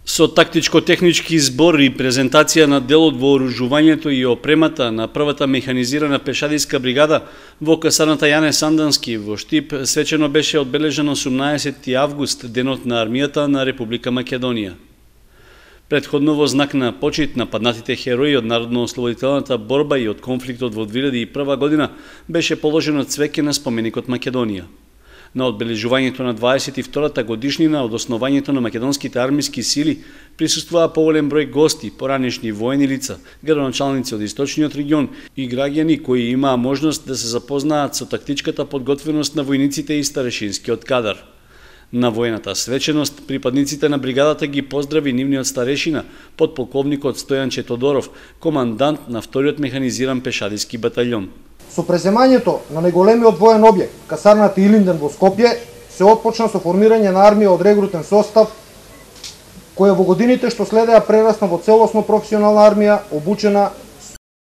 Со тактичко-технички збор и презентација на дел од вооружувањето и опремата на првата механизирана пешадиска бригада во касарната Јане Сандански во Штип свечено беше одбележан 18 август, денот на армијата на Република Македонија. Претходно во знак на почит на паднатите херои од народно-ослободителната борба и од конфликтот во 2001 година беше положено цвеќе на споменикот Македонија. На одбележувањето на 22-та годишнина од основањето на македонските армиски сили присуствуваа поголем број гости, поранешни воени лица, градоначалници од источниот регион и граѓани кои имаа можност да се запознаат со тактичката подготвеност на војниците и старешинскиот кадар. На воената свеченост припадниците на бригадата ги поздрави нивниот старешина, подполковникот Стојанче Тодоров, командант на вториот механизиран пешадиски батаљон. Со преземањето на најголемиот воен објект, касарната Илинден во Скопје, се отпочна со формирање на армија од регрутен состав, која во годините што следеа прерасна во целосно професионална армија, обучена